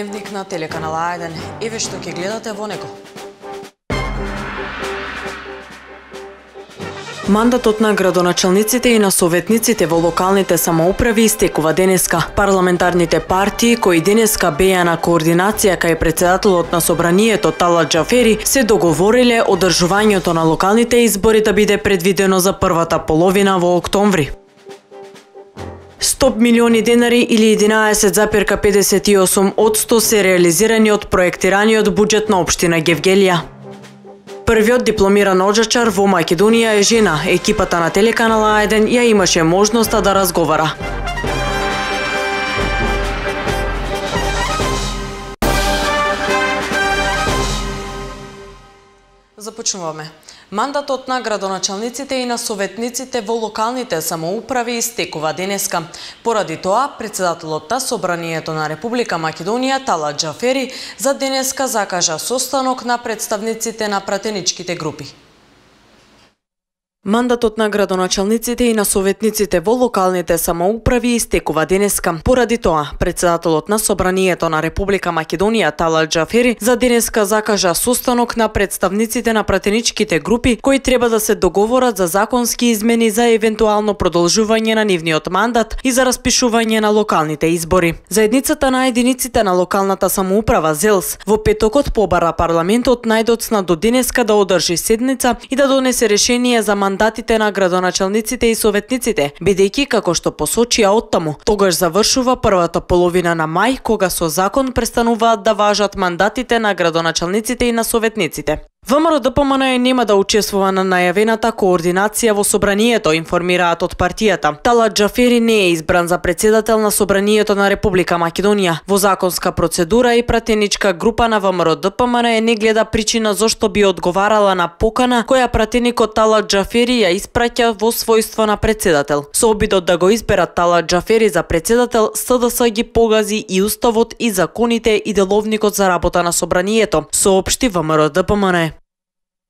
дневник на телеканал А1. Еве што ќе гледате во него. Мандатот на градоначалниците и на советниците во локалните самоуправи истекува денеска. Парламентарните партии кои денеска беа на координација кај председателот на собранието Талат Џафери се договориле одржувањето на локалните избори да биде предвидено за првата половина во октомври. 100 милиони денари или 11,58% се реализирани од проектираниот буџет на општина Гевгелија. Првиот дипломиран оджачар во Македонија е жена. Екипата на телеканал А1 ја имаше можноста да разговара. Започнуваме. Мандатот на градоначалниците и на советниците во локалните самоуправи истекува денеска. Поради тоа, председателот на Собранието на Република Македонија Талат Џафери за денеска закажа состанок на представниците на пратеничките групи. Мандатот на градоначалниците и на советниците во локалните самоуправи истекува денеска. Поради тоа, председателот на Собранието на Република Македонија Талат Џафери за денеска закажа состанок на представниците на пратеничките групи кои треба да се договорат за законски измени за евентуално продолжување на нивниот мандат и за распишување на локалните избори. Заедницата на единиците на локалната самоуправа ЗЕЛС во петокот побара парламентот најдоцна до денеска да одржи седница и да донесе решение за мандатите на градоначалниците и советниците, бидејќи како што посочија оттаму, тогаш завршува првата половина на мај, кога со закон престануваат да важат мандатите на градоначалниците и на советниците. ВМРО-ДПМН нема да учествува на најавената координација во собранието, информираат од партијата. Талат Џафери не е избран за председател на Собранието на Република Македонија. Во законска процедура и пратеничка група на ВМРО-ДПМН не гледа причина зошто би одговарала на покана која пратеникот Талат Џафери ја испраќа во својство на председател. Со обидот да го изберат Талат Џафери за председател, СДС ги погази и уставот и законите и деловникот за работа на собранието, соопшти ВМРО-ДПМН.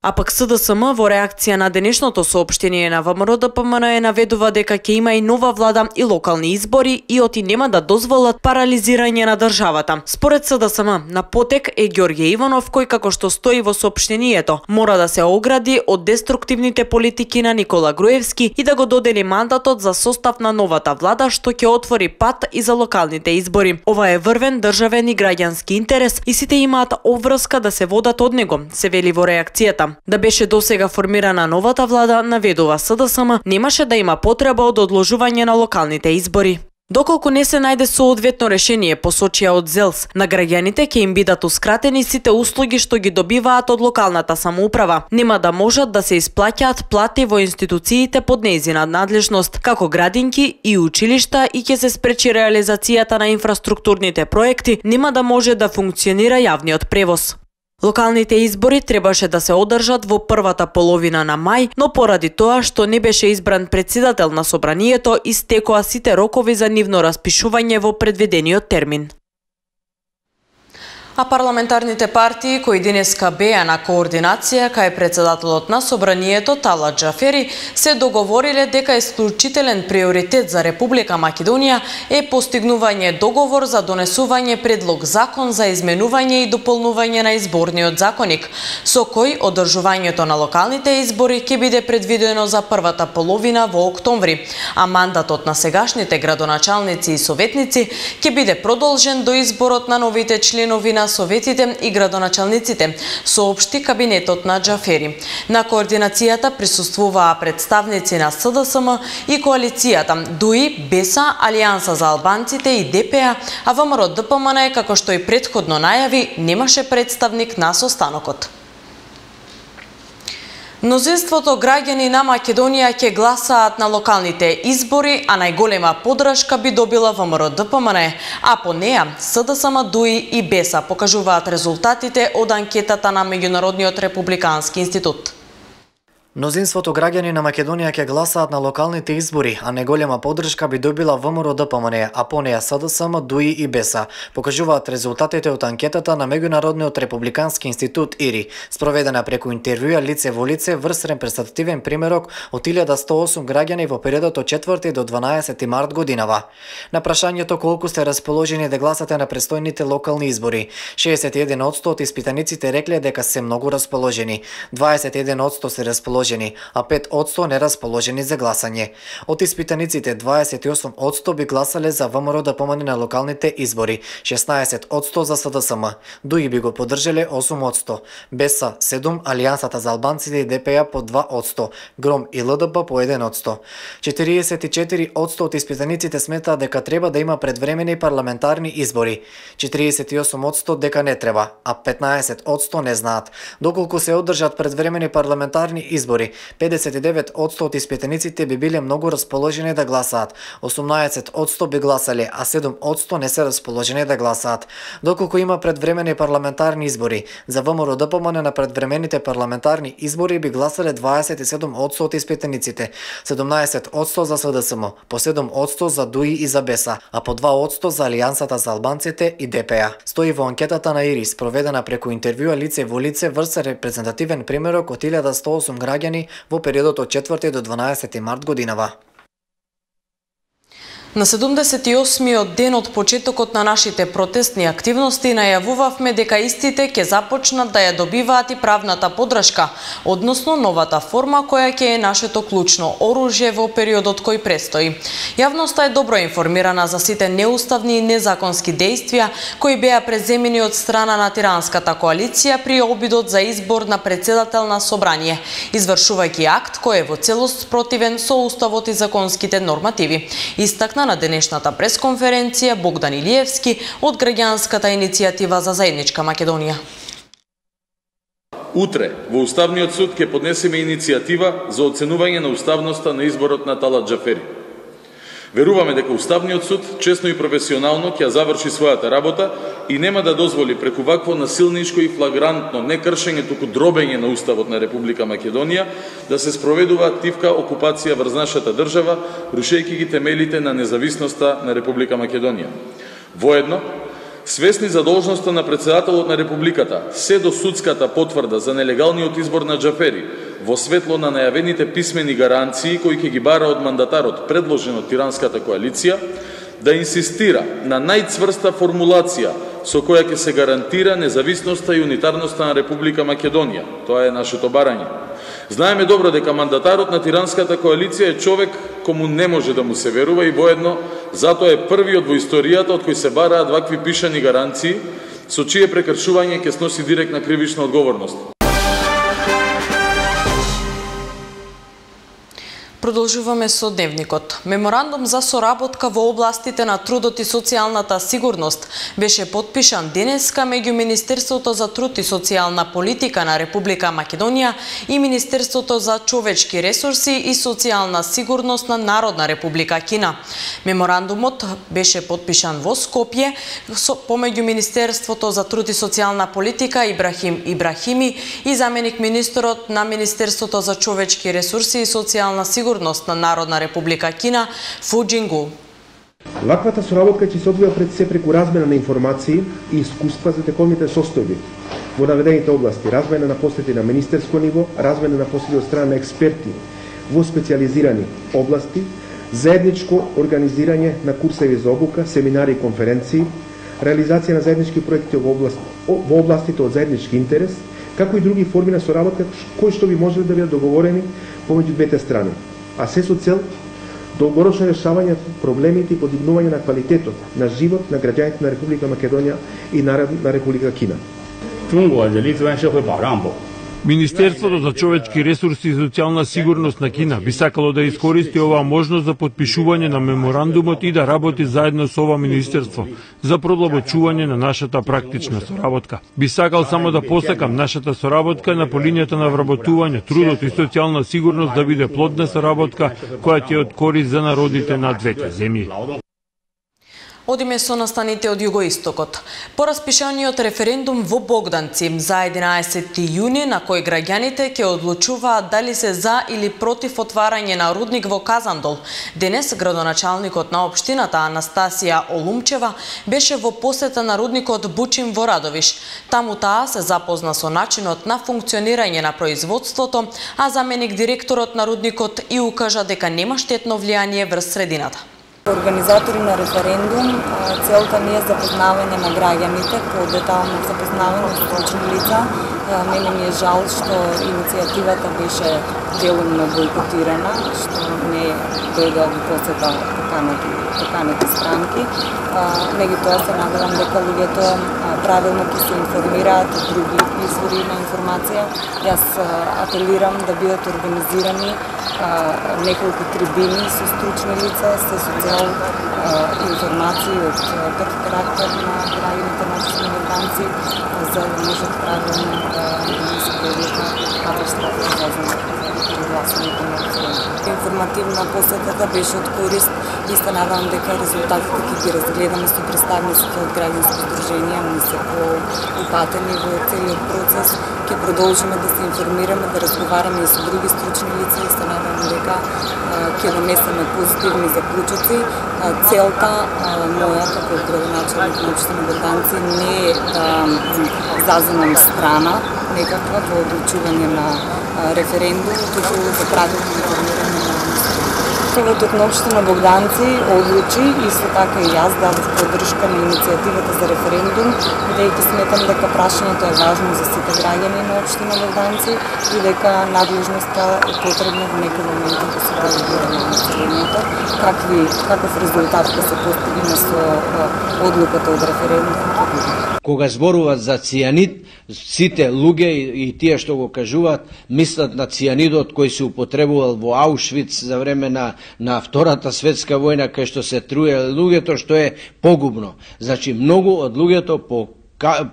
А пак СДСМ во реакција на денешното соопштение на ВМРО-ДПМН наведува дека ќе има и нова влада и локални избори и оти нема да дозволат парализирање на државата. Според СДСМ, на потек е Ѓорѓе Иванов кој, како што стои во соопштението, мора да се огради од деструктивните политики на Никола Груевски и да го додели мандатот за состав на новата влада што ќе отвори пат и за локалните избори. Ова е врвен државен и граѓански интерес и сите имаат обврска да се водат од него, се вели во реакцијата. Да беше досега формирана новата влада, наведува СДСМ, немаше да има потреба од одложување на локалните избори. Доколку не се најде соодветно решение, посочија од ЗЕЛС, на граѓаните ќе им бидатускратени сите услуги што ги добиваат од локалната самоуправа. Нема да можат да се исплаќаат плати во институциите под нејзина надлежност, како градинки и училишта, и ќе се спречи реализацијата на инфраструктурните проекти, нема да може да функционира јавниот превоз. Локалните избори требаше да се одржат во првата половина на мај, но поради тоа што не беше избран председател на собранието, истекоа сите рокови за нивно распишување во предвидениот термин. А парламентарните партии кои денеска беа на координација кај председателот на собранието Талат Џафери се договориле дека исклучителен приоритет за Република Македонија е постигнување договор за донесување предлог закон за изменување и дополнување на изборниот законник, со кој одржувањето на локалните избори ќе биде предвидено за првата половина во октомври, а мандатот на сегашните градоначалници и советници ќе биде продолжен до изборот на новите членови на советите и градоначалниците, соопшти кабинетот на Џафери. На координацијата присуствуваа представници на СДСМ и коалицијата ДУИ, БЕСА, Алијанса за албанците и ДПА, а ВМРО-ДПМН, како што и претходно најави, немаше представник на состанокот. Мнозинството граѓани на Македонија ќе гласаат на локалните избори, а најголема поддршка би добила ВМРО-ДПМН, а по неа СДСМ, ДУИ и БЕСА покажуваат резултатите од анкетата на Меѓународниот републикански институт. Мнозинството граѓани на Македонија ќе гласаат на локалните избори, а неголема поддршка би добила ВМРО-ДПМН, а по неја СДСМ, ДУИ и БЕСА, покажуваат резултатите од анкетата на Меѓународниот републикански институт ИРИ, спроведена преку интервјуа лице во лице врз репрезентативен примерок од 1108 граѓани во периодот од 4 до 12 март годинава. На прашањето колку сте расположени да гласате на престојните локални избори, 61% од испитаниците рекле дека се многу расположени, 21% се расположени, а 5% нерасположени за гласање. Од испитаниците 28% би гласале за ВМРО-ДПМН на локалните избори, 16% за СДСМ, ДУИ би го поддржале 8%, БЕСА 7%, Алијансата за албанците и ДПА по 2%, ГРОМ и ЛДП по 1%. 44% од испитаниците сметаат дека треба да има предвремени парламентарни избори, 48% дека не треба, а 15% не знаат. Доколку се одржат предвремени парламентарни избори, 59% од испитаниците би биле многу расположени да гласаат, 18% би гласале, а 7% не се расположени да гласаат. Доколку има предвремени парламентарни избори, за ВМРО-ДПМН на предвремените парламентарни избори би гласале 27% од испитаниците, 17% за СДСМ, по 7% за ДУИ и за БЕСА, а по 2% за Алијансата за албанците и ДПА. Стои во анкетата на ИРИ, спроведена преку интервјуа лице во лице врз репрезентативен примерок од 1108 граѓани во периодот од 4 до 12 март годинава. На 78-миот ден од почетокот на нашите протестни активности најавувавме дека истите ќе започнат да ја добиваат и правната поддршка, односно новата форма која ќе е нашето клучно оружје во периодот кој престои. Јавноста е добро информирана за сите неуставни и незаконски дејствија кои беа преземени од страна на тиранската коалиција при обидот за избор на председател на собрание, извршувајќи акт кој е во целост спротивен со уставот и законските нормативи. Истакна на денешната пресконференција Богдан Илиевски од граѓанската иницијатива за заедничка Македонија. Утре во Уставниот суд ќе поднесеме иницијатива за оценување на уставноста на изборот на Талат Џафери. Веруваме дека Уставниот суд честно и професионално ќе заврши својата работа и нема да дозволи преку вакво насилничко и флагрантно не кршење, туку дробење на Уставот на Република Македонија да се спроведува активка окупација врз нашата држава, рушејќи ги темелите на независноста на Република Македонија. Воедно, свесни за должноста на председателот на Републиката, се до судската потврда за нелегалниот избор на Џафери, во светло на најавените писмени гаранции кои ќе ги бара од мандатарот предложен од тиранската коалиција, да инсистира на најцврста формулација со која ќе се гарантира независноста и унитарноста на Република Македонија. Тоа е нашето барање. Знаеме добро дека мандатарот на тиранската коалиција е човек кому не може да му се верува и воедно затоа е првиот во историјата од кој се бараат вакви пишани гаранции, со чие прекршување ќе сноси директна кривична одговорност. Продолжуваме со дневникот. Меморандум за соработка во областите на трудот и социјалната сигурност беше потпишан денеска меѓу Министерството за труд и социјална политика на Република Македонија и Министерството за човечки ресурси и социјална сигурност на Народна Република Кина. Меморандумот беше потпишан во Скопје помеѓу Министерството за труд и социјална политика Ибрахим Ибрахими и заменик министерот на Министерството за човечки ресурси и социјална сигурност на Народна Република Кина Фу Џингу. Ваквата соработка ќе се одвија пред се преку размена на информации и искуства за тековните состојби во наведените области, размена на посети на министерско ниво, размена на посети од страна на експерти во специјализирани области, заедничко организирање на курсеви за обука, семинари и конференции, реализација на заеднички проекти во областите од заеднички интерес, како и други форми на соработка кои што би можеле да бидат договорени помеѓу двете страни, а се со цел долгорочно решавање проблемите и подигнување на квалитетот на живот на граѓаните на Република Македонија и на Република Кина. Министерството за човечки ресурси и социјална сигурност на Кина би сакало да искористи оваа можност за потпишување на меморандумот и да работи заедно со ова министерство за продлабочување на нашата практична соработка. Би сакал само да посакам нашата соработка на по линијата на вработување, трудот и социјална сигурност да биде плодна соработка која ќе од корист за народите на двете земји. Одиме со настаните од југоистокот. По распишаниот референдум во Богданци за 11 јуни на кој граѓаните ќе одлучуваат дали се за или против отварање на рудник во Казандол, денес градоначалникот на општината Анастасија Олумчева беше во посета на рудникот Бучим во Радовиш. Таму таа се запозна со начинот на функционирање на производството, а заменик директорот на рудникот и укажа дека нема штетно влијание врз средината. Организатори на референдум, целта не е запознавање на граѓаните, по-детално запознавање со стручни лица. Мене ми е жал што иницијативата беше делумно бойкотирана, што не дојде од посета поканети странки. Меѓутоа се надевам дека луѓето правилно ќе се информираат од други извори на информација. Јас апелирам да бидат организирани неколку трибини со стручни лица, се со цел информации од такви карактер на граѓаните на општина Богданци, за да можат правилно да се проведат катастрофа за гласувањето на референдум. Информативна посетата беше од корист и се надевам дека резултатите ќе ги разгледаме со представниците од граѓански здруженија, ние се поупатени во целиот процес. Ќе продолжиме да се информираме, да разговараме и со други стручни лица и се надевам дека ќе донесеме позитивни заклучоци. Целта моја како градоначалник на општина Богданци не е да заземам страна некаква во одлучување на референдум, туку да правилно информирање на Советот на општина Богданци одлучи, исто така и јас дадов поддршка на иницијативата за референдум, бидејќи сметам дека прашањето е важно за сите граѓани на општина Богданци и дека надлежноста е потребна во некој момент да се делегира на населението. Каков резултат ќе се постигне со одлуката од референдум? Кога зборуваат за цијанид, сите луѓе и тие што го кажуваат, мислат на цијанидот кој се употребувал во Аушвиц за време на Втората светска војна, кај што се труеле луѓето, што е погубно. Значи, многу од луѓето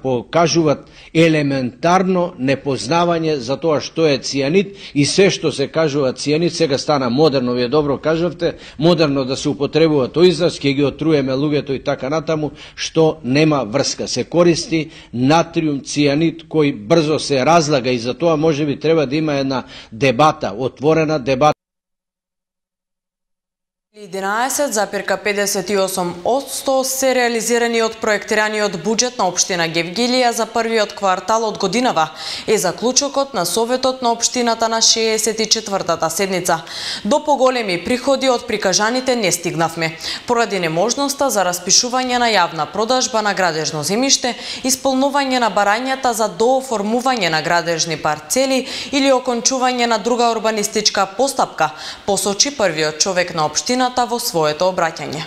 покажуваат елементарно непознавање за тоа што е цијанид и се што се кажува цијанид сега стана модерно, вие добро кажавте, модерно да се употребува тој израз, ќе ги отруеме луѓето и така натаму, што нема врска. Се користи натриум цијанид кој брзо се разлага и за тоа можеби треба да има една дебата, отворена дебата. 11,58% се реализирани од проектираниот буџет на општина Гевгелија за првиот квартал од годинава е заклучокот на Советот на општината на 64-та седница. До поголеми приходи од прикажаните не стигнавме, поради неможноста за распишување на јавна продажба на градежно земјиште, исполнување на барањата за дооформување на градежни парцели или окончување на друга урбанистичка постапка, посочи првиот човек на општина во своето обраќање.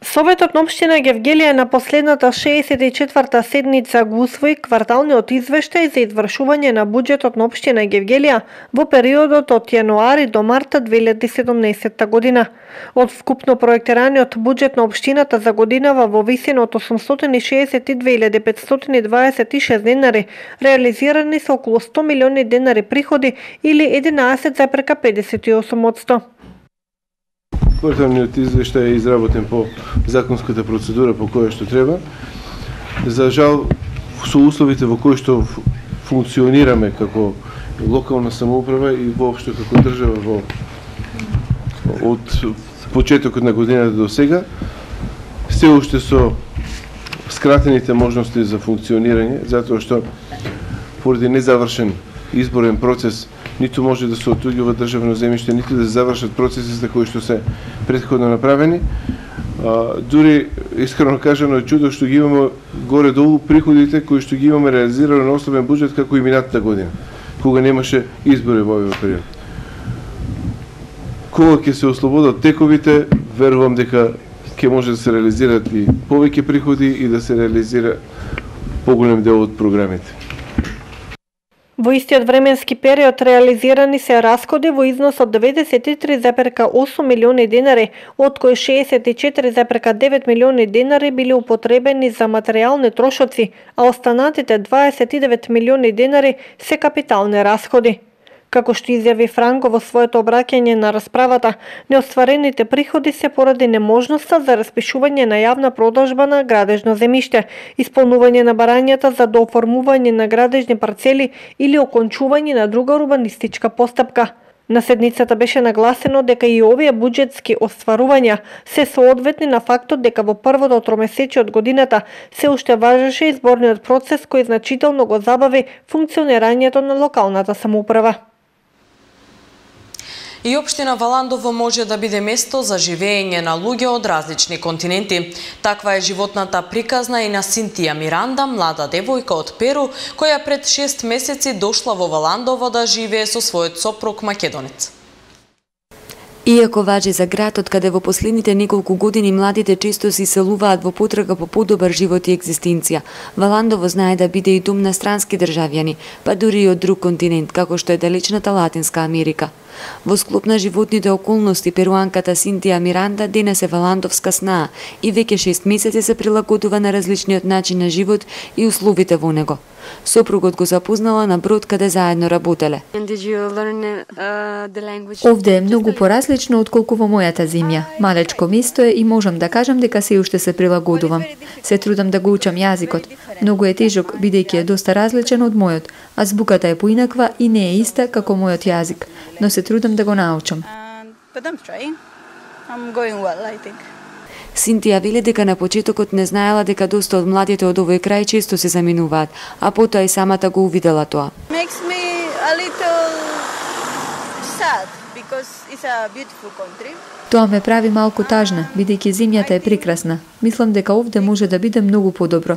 Советот на општина Гевгелија на последната 64-та седница го усвои кварталниот извештај за извршување на буџетот на општина Гевгелија во периодот од јануари до март 2017 година. Од вкупно проектираниот буџет на општината за годинава во висина од 862.526 денари, реализирани се околу 100 милиони денари приходи или 11,58%. Кварталниот извештај е изработен по законската процедура по која што треба. За жал, со условите во кои што функционираме како локална самоуправа и воопшто како држава од почетокот на годината до сега, се уште со скратените можности за функционирање, затоа што поради незавршен изборен процес ниту може да се отуѓува државно земјиште, ниту да се завршат процесите кои што се претходно направени. Дури, искрено кажано, е чудо што ги имаме горе-долу приходите кои што ги имаме реализирано на основен буџет како и минатата година, кога немаше избори во овој период. Кога ќе се ослободат тековите, верувам дека ќе може да се реализираат и повеќе приходи и да се реализира поголем дел од програмите. Во истиот временски период реализирани се расходи во износ од 93,8 милиони денари, од кои 64,9 милиони денари били употребени за материјални трошоци, а останатите 29 милиони денари се капитални расходи. Како што изјави Франко во своето обраќање на расправата, неостварените приходи се поради неможноста за распишување на јавна продажба на градежно земјиште, исполнување на барањата за дооформување на градежни парцели или окончување на друга урбанистичка постапка. На седницата беше нагласено дека и овие буџетски остварувања се соодветни на фактот дека во првото тромесечие од годината се уште важеше изборниот процес кој значително го забави функционирањето на локалната самоуправа. И општина Валандово може да биде место за живење на луѓе од различни континенти. Таква е животната приказна и на Синтија Миранда, млада девојка од Перу, која пред 6 месеци дошла во Валандово да живее со својот сопруг македонец. Иако важи за градот каде во последните неколку години младите често се иселуваат во потрага по подобар живот и екзистенција, Валандово знае да биде и дом на странски државјани, па дури и од друг континент, како што е далечната Латинска Америка. Во склоп на животните околности, перуанката Синтија Миранда денес е валандовска снаа и веќе 6 месеци се прилагодува на различниот начин на живот и условите во него. Сопругот го запознала на брод каде заедно работеле. Овде е многу поразлично отколку во мојата земја. Малечко место е и можам да кажам дека се уште се прилагодувам. Се трудам да го учам јазикот. Многу е тежок, бидејќи е доста различен од мојот, а збуката е поинаква и не е иста како мојот јазик, но се трудам да го научам. Синтија вели дека на почетокот не знаела дека доста од младите од овој крај често се заминуваат, а потоа и самата го увидела тоа. Тоа ме прави малку тажна, бидејќи земјата е прекрасна. Мислам дека овде може да биде многу подобро.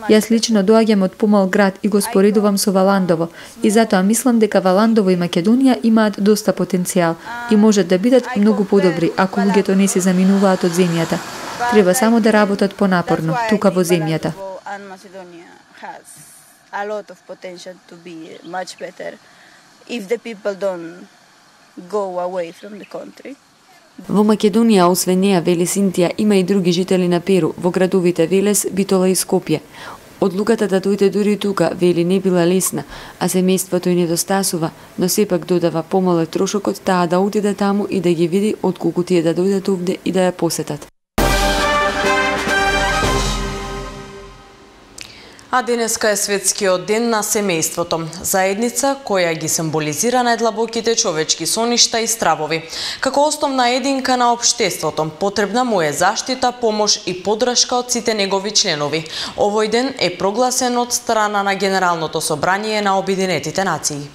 Јас лично доаѓам од помал град и го споредувам со Валандово, и затоа мислам дека Валандово и Македонија имаат доста потенцијал и можат да бидат многу подобри ако луѓето не се заминуваат од земјата. Треба само да работат понапорно тука во земјата. Во Македонија, освен неа, вели Синтија, има и други жители на Перу, во градовите Велес, Битола и Скопје. Одлуката да дојде дури тука, вели, не била лесна, а семејството и недостасува, но сепак додава помал е трошокот таа да отиде таму и да ги види отколку тие да дојдат овде и да ја посетат. А денеска е светскиот ден на семејството, заедница која ги символизира најдлабоките човечки соништа и стравови. Како основна единка на општеството, потребна му е заштита, помош и поддршка од сите негови членови. Овој ден е прогласен од страна на Генералното собрание на Обединетите нации.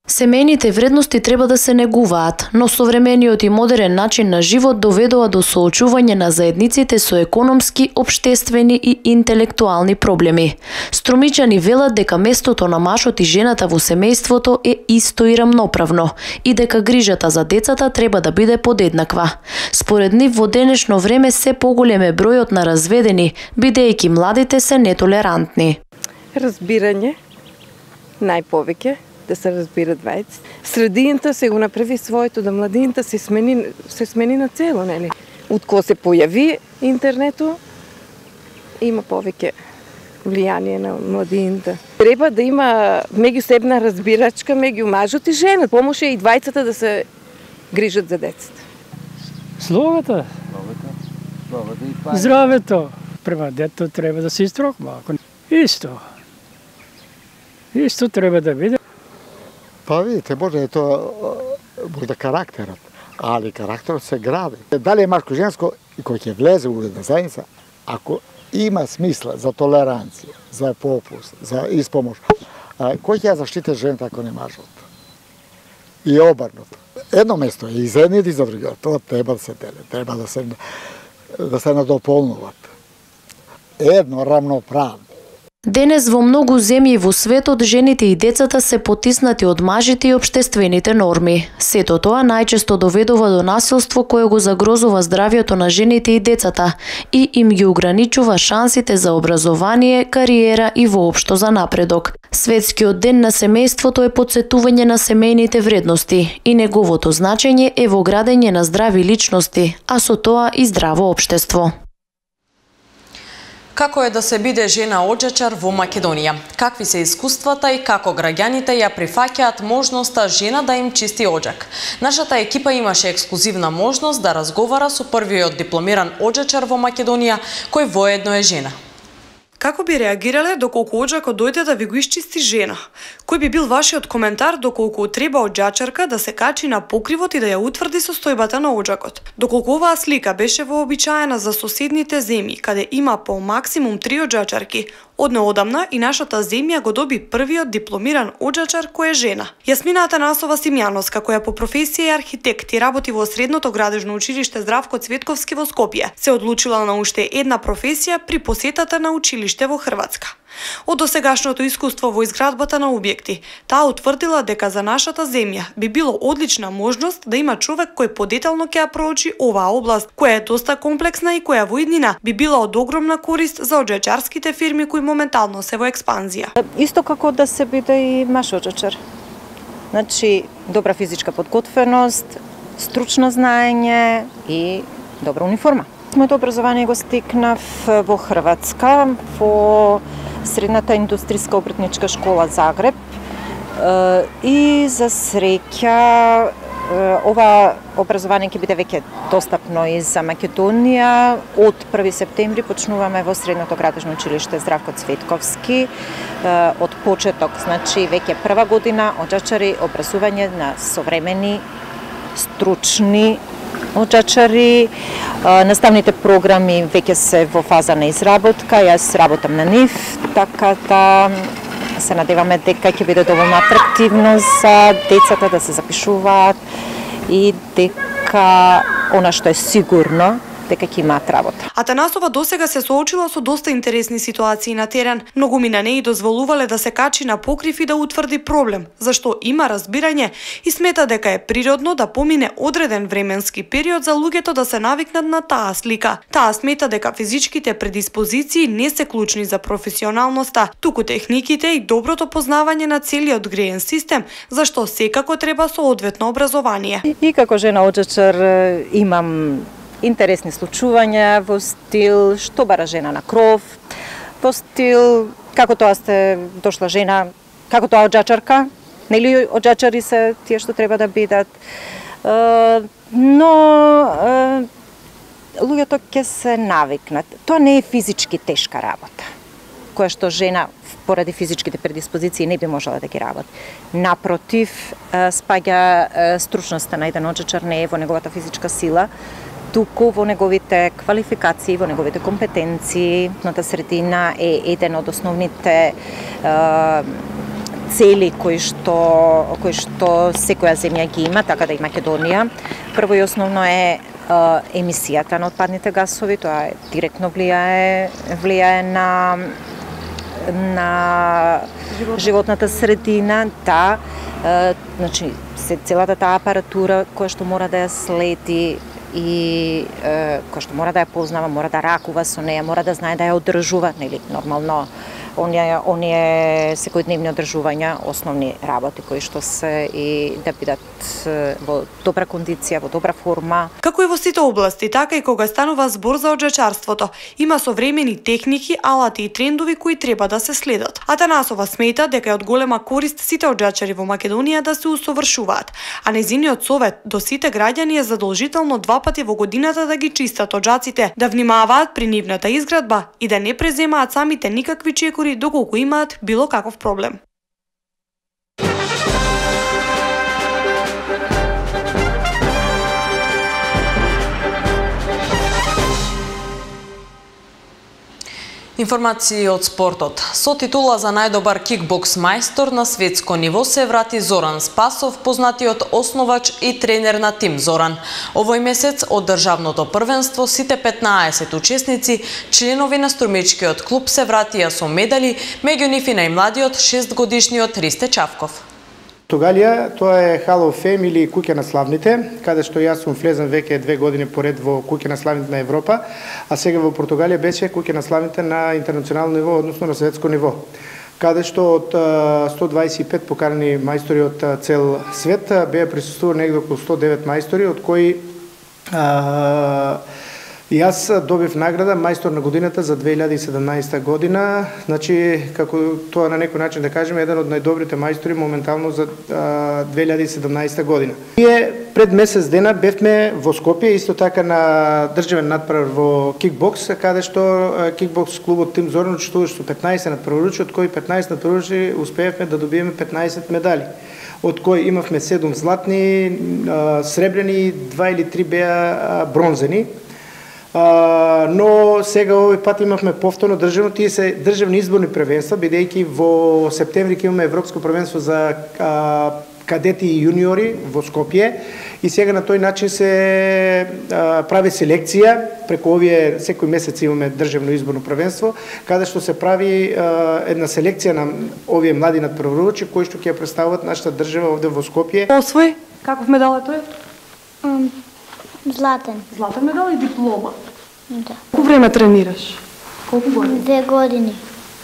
Семејните вредности треба да се негуваат, но современиот и модерен начин на живот доведува до соочување на заедниците со економски, општествени и интелектуални проблеми. Струмичани велат дека местото на мажот и жената во семејството е исто и рамноправно и дека грижата за децата треба да биде подеднаква. Според нив во денешно време се поголем е бројот на разведени, бидејќи младите се нетолерантни. Разбирање, најповеќе, да се разбират двајци. Средината се го направи своето, да младината се смени на цело, нели? Од кога се појави интернету, има повеќе влијание на младината. Треба да има меѓусебна разбирачка меѓу мажот и жена. Помоше и двајцата да се грижат за децата. Словата. Здравето. Прва дето треба да се истроква. Исто треба да биде. Па видите, може е тоа може карактерот, али карактерот се гради. Дали е машко-женско и кој ќе влезе во една заедница, ако има смисла за толеранција, за попуст, за испомош, кој ќе ја заштити жената ако не мажот? И обрнато. Едно место е и за едните и за другите. Тоа треба да се деле, треба да се надополнуваат. Едно рамноправно. Денес во многу земји во светот жените и децата се потиснати од мажите и општествените норми. Сето тоа најчесто доведува до насилство кое го загрозува здравјето на жените и децата и им ги ограничува шансите за образование, кариера и воопшто за напредок. Светскиот ден на семејството е потсетување на семејните вредности и неговото значење е во градење на здрави личности, а со тоа и здраво општество. Како е да се биде жена оджачар во Македонија? Какви се искуствата и како граѓаните ја прифаќаат можноста жена да им чисти оджак? Нашата екипа имаше ексклузивна можност да разговара со првиот дипломиран оджачар во Македонија, кој воедно е жена. Како би реагирале доколку оджакот дојде да ви го исчисти жена? Кој би бил вашиот коментар доколку треба оджачарка да се качи на покривот и да ја утврди состојбата на оджакот? Доколку оваа слика беше вообичаена за соседните земји, каде има по максимум 3 оджачарки, од неодамна и нашата земја го доби првиот дипломиран оджачар кој е жена. Јасмина Атанасова Симјановска, која по професија е архитект и работи во Средното градежно училиште Здравко Цветковски во Скопје, се одлучила на уште една професија при посетата на училиште во Хрватска. Од досегашното искуство во изградбата на објекти, таа утврдила дека за нашата земја би било одлична можност да има човек кој подетално ќе ја проучи оваа област, која е доста комплексна и која во иднина би била од огромна корист за оджачарските фирми кои моментално се во експанзија. Исто како да се биде и маш оджачар. Значи, добра физичка подготвеност, стручно знаење и добра униформа. Моето образование го стекнав во Хрватска, во Средната индустријска обртничка школа Загреб и за среќа ова образование ќе биде веќе достапно и за Македонија. Од 1 септември почнуваме во Средното градежно училиште Здравко Цветковски. Од почеток, значи веќе прва година оджачари образување на современи, стручни оджачари. Наставните програми веќе се во фаза на изработка, јас работам на нив, така да се надеваме дека ќе биде доволно атрактивно за децата да се запишуваат и дека она што е сигурно дека ќе имаат работа. Атанасова досега се соочила со доста интересни ситуации на терен. Многумина не и дозволувале да се качи на покрив и да утврди проблем, зашто има разбирање и смета дека е природно да помине одреден временски период за луѓето да се навикнат на таа слика. Таа смета дека физичките предиспозиции не се клучни за професионалноста, туку техниките и доброто познавање на целиот греен систем, зашто секако треба соодветно образование. И како жена оджачар имам интересни случувања во стил што бара жена на кров, во стил како тоа сте дошла жена, како тоа оджачарка, нели оджачари се тие што треба да бидат. Но луѓето ќе се навикнат. Тоа не е физички тешка работа, која што жена поради физичките предиспозиции не би можела да ги работи. Напротив, спаѓа стручноста на еден оджачар не е во неговата физичка сила, туку во неговите квалификации, во неговите компетенции. Ната средина е еден од основните цели кои што секоја земја ги има, така да и Македонија. Прво и основно е емисијата на отпадните гасови, тоа директно влијае на животната средина, да. Значи, целата таа апаратура која што мора да ја следи и кој што мора да ја познава, мора да ракува со неја, мора да знае да ја одржува, нели, нормално оние секојдневни одржувања, основни работи кои што се и да бидат во добра кондиција, во добра форма. Како и во сите области, така и кога станува збор за оджачарството, има современи техники, алати и трендови кои треба да се следат. Атанасова смета дека е од голема корист сите оджачари во Македонија да се усовршуваат, а нејзиниот совет до сите граѓани е задолжително 2 пати во годината да ги чистат оджаците, да внимаваат при нивната изградба и да не преземаат самите никакви чекори доколку имаат било каков проблем. Информации од спортот. Со титула за најдобар кикбокс мајстор на светско ниво се врати Зоран Спасов, познатиот основач и тренер на Тим Зоран. Овој месец од државното првенство сите 15 учесници, членови на струмичкиот клуб, се вратија со медали, меѓу нив и најмладиот 6-годишниот Ристе Чавков. Португалија, тоа е Hall of Fame или куќа на славните, каде што јас сум влезен веќе 2 години поред во куќа на славните на Европа, а сега во Португалија беше куќа на славните на интернационално ниво, односно на светско ниво, каде што од 125 покарани мајстори од цел свет беа присуствувани негде околу 109 мајстори, од кои И јас добив награда мајстор на годината за 2017 година, значи како тоа на некој начин да кажеме еден од најдобрите мајстори моментално за 2017 година. Ние пред месец дена бевме во Скопје исто така на државен надпревар во кикбокс, каде што кикбокс клубот Тим Зоран учествуваше со 15 надпреварувачи, од кои 15 надпреварувачи успеевме да добиеме 15 медали, од кои имавме 7 златни, сребрени, 2 или 3 беа бронзени. Но сега овој пат имавме повторно државно, тие се државни изборни првенства, бидејќи во септември ќе имаме европско првенство за кадети и јуниори во Скопје и сега на тој начин се прави селекција, преку овие секој месец имаме државно изборно првенство, каде што се прави една селекција на овие млади надпреварувачи кои што ќе представуваат нашата држава овде во Скопје. Освој, каков медал е тој? Златен. Златен медал и диплома. Да. Колку време тренираш? Колку години? 2 години.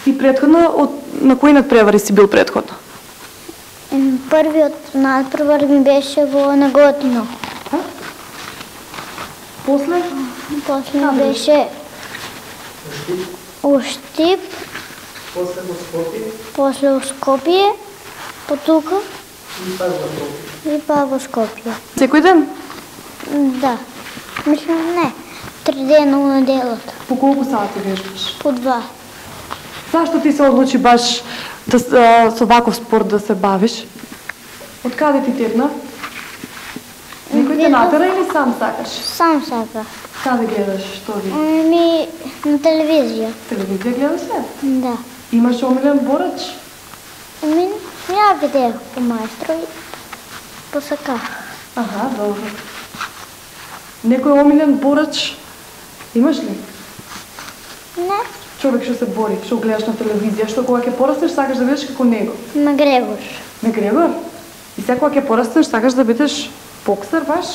И претходно, на кои надпревари си бил претходно? Првиот надпревар ми беше во Неготино. После? После ми беше Уштип. После во Скопје. После во Скопје. Потука. И па во Скопје. Секој ден? Да. Мислам не. 3 дена у неделата. По колку сати вежбаш? По 2. Зашто ти се одлучи баш со ваков спорт да се бавиш? Од каде ти тегна? Некој те натера или сам сакаш? Сам сака. Каде гледаш? Што ви? Ми на телевизија. Телевизија гледаш се? Да. Имаш омилен борач? Ја видех по мајстрови. Посаках. Аха, добро. Некој омилен борач имаш ли? Не. Човек што се бори, што гледаш на телевизија, што кога ќе пораснеш сакаш да бидеш како него? Макгрегор. Макгрегор? И сега кога ќе пораснеш сакаш да бидеш боксер баш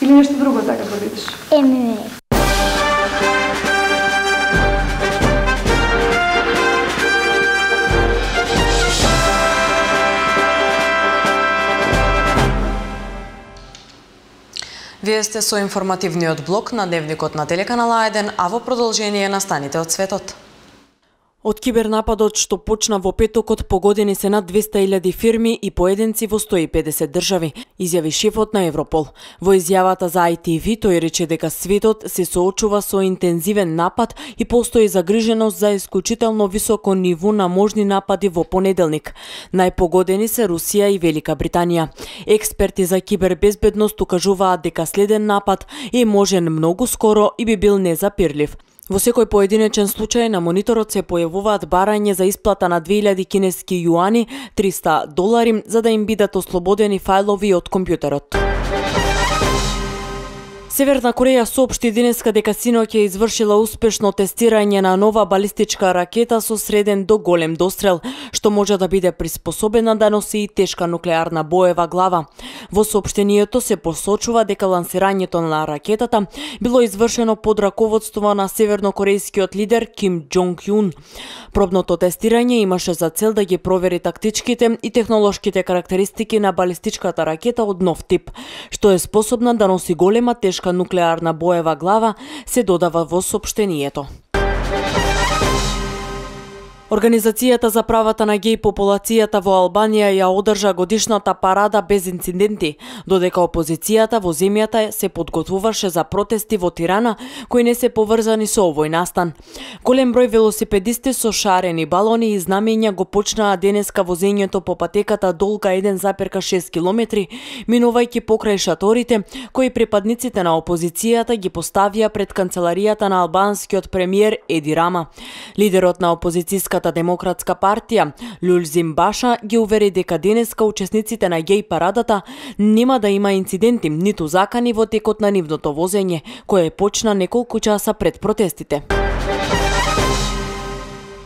или нешто друго сакаш да бидеш? ММА. Вие сте со информативниот блок на Дневникот на телеканал А1, а во продолжение настаните од светот. Од кибернападот што почна во петокот погодени се над 200.000 фирми и поединци во 150 држави, изјави шефот на Европол. Во изјавата за ITV тој рече дека светот се соочува со интензивен напад и постои загриженост за исклучително високо ниво на можни напади во понеделник. Најпогодени се Русија и Велика Британија. Експерти за кибербезбедност укажуваат дека следен напад е можен многу скоро и би бил незапирлив. Во секој поединечен случај на мониторот се појавуваат барање за исплата на 2000 кинески јуани, $300, за да им бидат ослободени фајлови од компјутерот. Северна Кореја соопшти денеска дека синоќ е извршила успешно тестирање на нова балистичка ракета со среден до голем дострел, што може да биде приспособена да носи и тешка нуклеарна боева глава. Во соопштението се посочува дека лансирањето на ракетата било извршено под раководство на севернокорејскиот лидер Ким Џонг Јун. Пробното тестирање имаше за цел да ги провери тактичките и технолошките карактеристики на балистичката ракета од нов тип, што е способна да носи голема тешка нуклеарна боева глава, се додава во соопштението. Организацијата за правата на геј популацијата во Албанија ја одржа годишната парада без инциденти, додека опозицијата во земјата се подготвуваше за протести во Тирана кои не се поврзани со овој настан. Голем број велосипедисти со шарени балони и знамења го почнаа денеска возењето по патеката долга 1,6 километри, минувајќи покрај шаторите кои припадниците на опозицијата ги поставија пред канцеларијата на албанскиот премиер Еди Рама. Лидерот на опозицијската демократска партија Лулзим Баша ги увери дека денеска учесниците на геј парадата нема да има инциденти ниту закани во текот на нивното возење, кое почна неколку часа пред протестите.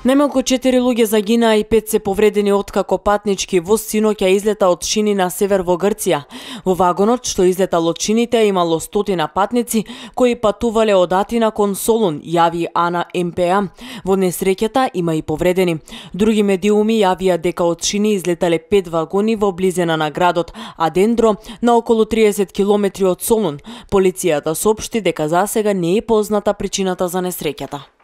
Најмалку 4 луѓе загинаа и 5 се повредени откако патнички воз синоќа излета од Шини на север во Грција. Во вагонот што излетал од Шините имало 100 патници кои патувале од Атина кон Солун, јави Ана МПА. Во несреќата има и повредени. Други медиуми јавија дека од Шини излетале 5 вагони во близина на градот Адендро на околу 30 километри од Солун. Полицијата соопшти дека засега не е позната причината за несреќата.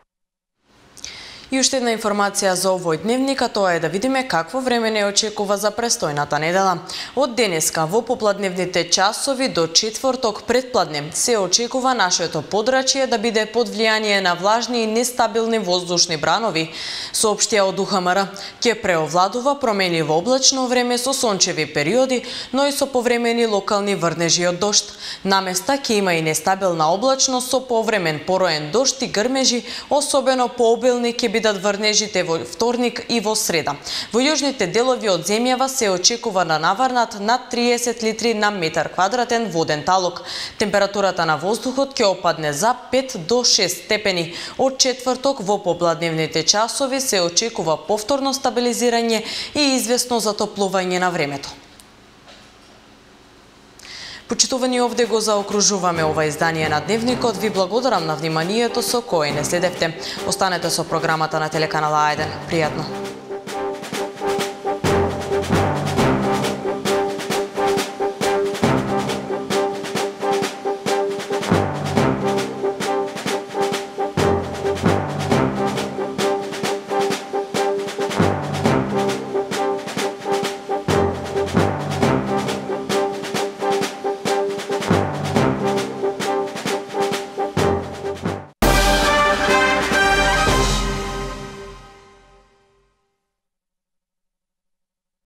И уште една информација за овој дневник, а тоа е да видиме какво време не очекува за престојната недела. Од денеска во попладневните часови до четврток предпладне се очекува нашето подрачје да биде под влијание на влажни и нестабилни воздушни бранови. Соопштија од УХМР, ќе преовладува променливо облачно време со сончеви периоди, но и со повремени локални врнежи од дожд. Наместа ќе има и нестабилна облачност со повремен пороен дожд и грмежи, особено пообилни ќе бидат врнежите во вторник и во среда. Во јужните делови од земјава се очекува да наврнат над 30 литри на метар квадратен воден талок. Температурата на воздухот ќе опадне за 5 до 6 степени. Од четврток во попладневните часови се очекува повторно стабилизирање и извесно затоплување на времето. Почитувани, овде го заокружуваме ова издание на Дневникот. Ви благодарам на вниманието со кое не следевте. Останете со програмата на телеканала А1. Пријатно!